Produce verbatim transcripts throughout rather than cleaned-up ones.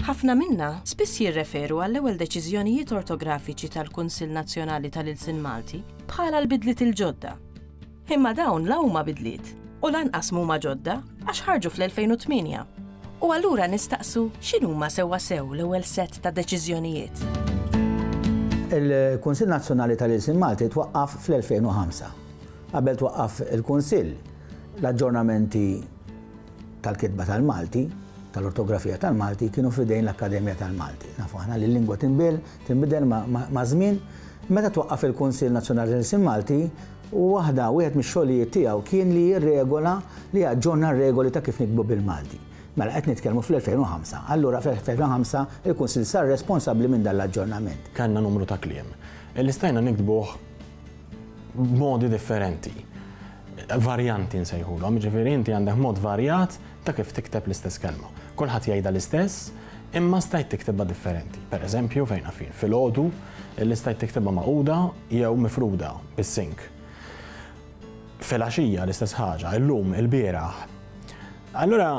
Ħafna minna spiss jirreferu għall-ewwel deċiżjonijiet ortografiċi tal-Kunsill Nazzjonali tal-Ilsien Malti bħala l-bidliet il-ġodda. Imma dawn la huma bidliet u lanqas huma ġodda għax ħarġu fl-elfejn u tmienja. U allura nistaqsu x'inhuma sewwa sew l-ewwel sett ta' deċiżjonijiet. Il-Kunsill Nazzjonali tal-Ilsien Malti twaqqaf fl-elfejn u ħamsa. Qabel twaqqaf il-Kunsill, l-aġġornamenti tal-kitba tal-Malti, tal-ortografija tal-Malti kienu f'idejn l-Akkademja tal-Malti. Nafu aħna li l-lingwa tinbidel, tinbidel ma-, ma-, ma' żmien. Meta twaqqaf il-Kunsill Nazzjonali tal-Ilsien Malti, waħda, wieħed mix-xogħlijiet tiegħu kien li jirregola, li jaġġorna r-regoli ta' kif nikbu bil-Malti. Mela qed nitkellmu fl-elfejn u ħamsa. Allura fl-elfejn u ħamsa il-Kunsill sar responsabbli minn dan l-aġġornament. Kellna numru ta' kliem li stajna nikdbuh b'modi differenti, varjanti nsejħulhom, jiġifieri inti għandek mod varjat ta' kif tikteb l-istess kelma. Kulħadd jgħidha l-istess, imma stajt tiktebha differenti. Per eżempju, fejn għafin, filgħodu li stajt tiktebha magħquda jew mifruda bis-sink. Filgħaxija l-istess ħaġa, illum, ilbieraħ. Allura,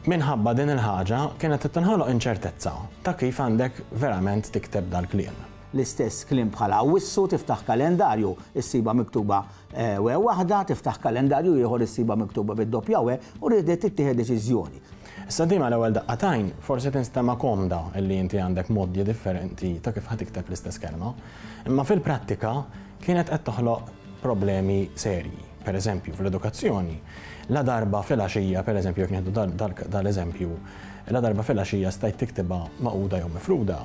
minħabba din il-ħaġa kienet tinħoloq inċertezza ta' kif għandek verament tikteb dal-kliem. L-istess kliem bħala wissu, tiftaħ kalendarju, issiba miktuba, eh, we waħda, tiftaħ kalendarju ieħor issiba miktuba bid-doppja we, u rridet tittieħed deċiżjoni. Issa din mal-ewwel daqqatajn forsi tinstema' komda illi inti għandek modi differenti ta' kif ħa tikteb l-istess kelma, imma fil-prattika kienet qed toħloq problemi serji. Per eżempju, fl-edukazzjoni, la darba fil-għaxija, per eżempju, jekk nieħdu dal-, dal-, dal-eżempju, la darba fil-għaxija stajt tiktibha magħquda jew mifruda,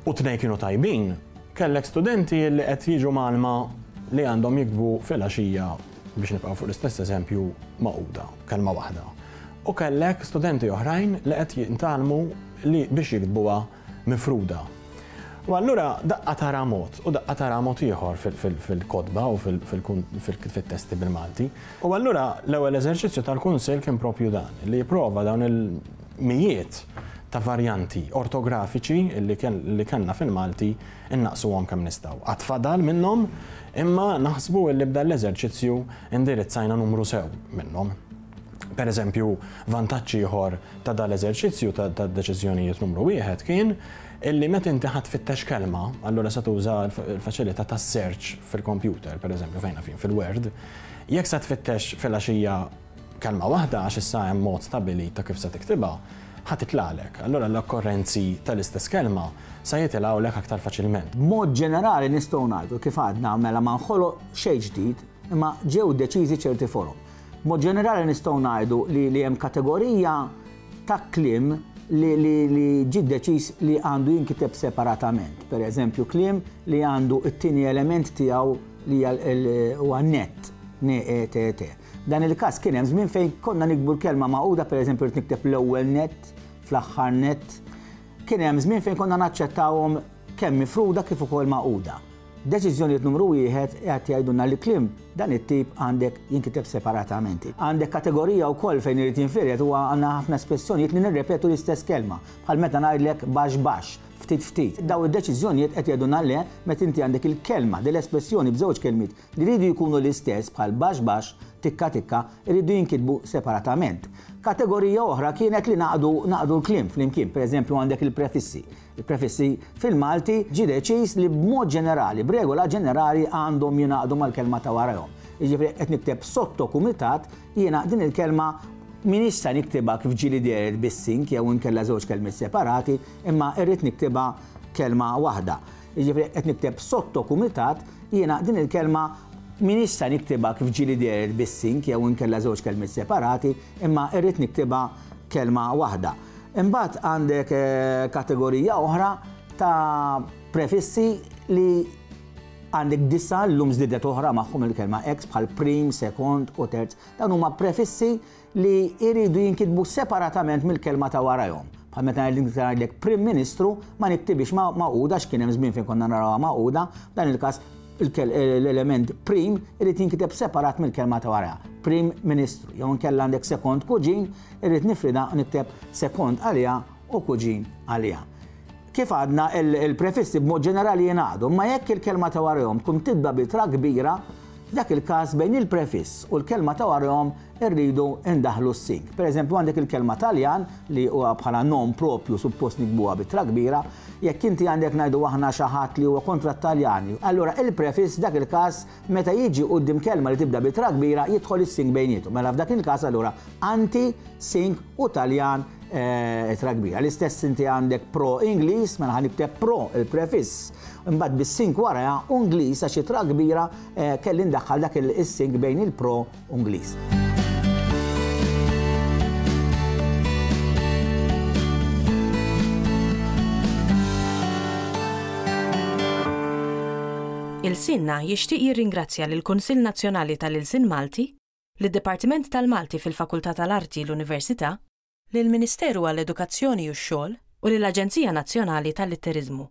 u tnejn kienu tajbin, kellek studenti li qed jiġu mgħallma li għandhom jiktbu fil-għaxija, biex nibqgħu fuq l-istess eżempju, magħquda, kelma waħda. U kellek studenti oħrajn li qed jintgħallmu li biex jiktbuha mifruda. U allura daqqa tara mod u daqqa tara mod ieħor fil-, fil-, fil-kotba u fil-, fil-kun-, fil-, fit-testi bil-Malti. U allura l-ewwel eżerċizzju tal-Kunsill kien propju dan, li jipprova dawn il-mijiet ta' varjanti ortografiċi li kien-, li kellna fil-Malti innaqsuhom kemm nistgħu. Għad fadal minnhom, imma naħsbu li b'dan l-eżerċizzju indirizzajna numru sew minnhom. Per eżempju, vantaġġ ieħor ta' dal-eżerċizzju ta', ta' deċiżjonijiet numru wieħed kien illi meta inti ħadd tfittex kelma, allura se tuża l-fa-, l-faċilità tas-search fil-computer, per eżempju, fejn fin fil-Word, jekk se tfittex fil-għaxija kelma waħda għax issa hemm mod stabili ta' kif se tiktibha, ħa titlalek. Allura l-okkorrenzi tal-istess kelma se jitilgħulek aktar faċilment. B'mod ġenerali nistgħu ngħidu kif għadna mela ma nħoloq xejn ġdid, imma ġew deċiżi ċerti forom. B'mod ġenerali nistgħu ngħidu li, li hemm kategorija ta' kliem li, li, li ġie deċiż li għandu jinkiteb separatament. Per eżempju, kliem li għandu t-tieni element tiegħu li hija l-, huwa net, N E T T. Dan il-każ kien hemm żmien fejn konna nikbu l-kelma magħquda, per eżempju, rrid nikteb l-ewwel net, fl-aħħar net. Kien hemm żmien fejn konna naċċettawhom kemm mifruda kif ukoll magħquda. Deċiżjonijiet numru wieħed qed jgħidulna li kliem dan it-tip għandek jinkiteb separatament. Għandek kategorija wkoll fejn irid jinfired huwa għandna ħafna espressjonijiet li nirrepetu l-istess kelma, bħal meta ngħidlek baxx baxx, ftit ftit. Daw id-deċiżjonijiet qed jgħidulna le meta inti għandek il-kelma, din l-espressjoni b'żewġ kelmiet li jridu jkunu l-istess bħal baxx baxx, tikka tikka, jridu jinkitbu separatament. Kategorija oħra kienet li naqdu, naqdu l-kliem flimkien, per eżempju għandek il-prefissi. Il-prefissi fil-Malti ġie deċiż li b'mod ġenerali, b'regola ġenerali għandhom jingħaqdu mal-kelma ta' warahom. Jiġifieri qed nikteb sotto kumitat, jiena din il-kelma minix sa niktibha kif ġieli dehret bis-sink jew inkella żewġ kelmiet separati, imma irrid niktibha kelma waħda. Jiġifieri qed nikteb sotto kumitat, jiena din il-kelma minix sa niktibha kif ġieli dehret bis-sink jew inkella żewġ kelmiet separati, imma irrid niktibha kelma waħda. Imbagħad għandek, eh, kategorija oħra ta' prefissi li għandek disa llum żdiedet oħra magħhom il-kelma ex bħal prim, sekond u terz. Dan huma prefissi li jridu jinkitbu separatament mill-kelma ta' warahom. Bħal meta ngħidlek Prim Ministru ma niktibix ma-, magħquda għax kien hemm żmien fejn konna narawha magħquda, f'dan il-każ il-kel-, l-element prim irid jinkiteb separat mill-kelma ta' wara. Prim Ministru. Jew inkella għandek sekond kuġin, irid nifrida nikteb sekond għaliha u kuġin għaliha. Kif għadna, il-prefissi b'mod ġenerali jingħaqdu, ma jekk il-kelma ta' warahom tkun tibda b'ittra kbira, f'dak il-każ bejn il-prefiss u l-kelma ta' warahom irridu ndaħlu s-sing. Per eżempju, għandek il-kelma Taljan li huwa bħala nom propju suppost niktbuha b'ittra kbira, jekk inti għandek, ngħidu aħna, xi ħadd li huwa kontra Taljani, allura il-prefiss f'dak il-każ meta jiġi quddiem kelma li tibda b'ittra kbira jidħol is-sing bejnietu. Mela f'dak il-każ allura anti, sing u Taljan ittra kbira. L-istess inti għandek pro Ingliż, mela ħa nikteb pro il-prefiss. Imbagħad bis-sing wara u Ingliż għax ittra kbira kelli ndaħħal dak is-sing bejn il-pro u Ingliż. Ilsienna jixtieq jirringrazzja lill-Kunsill Nazzjonali tal-Ilsien Malti, lid-Dipartiment tal-Malti fil-Fakultà tal-Arti l-Università, lill-Ministeru għall-Edukazzjoni u x-Xogħol u lill-Aġenzija Nazzjonali tal-Litteriżmu.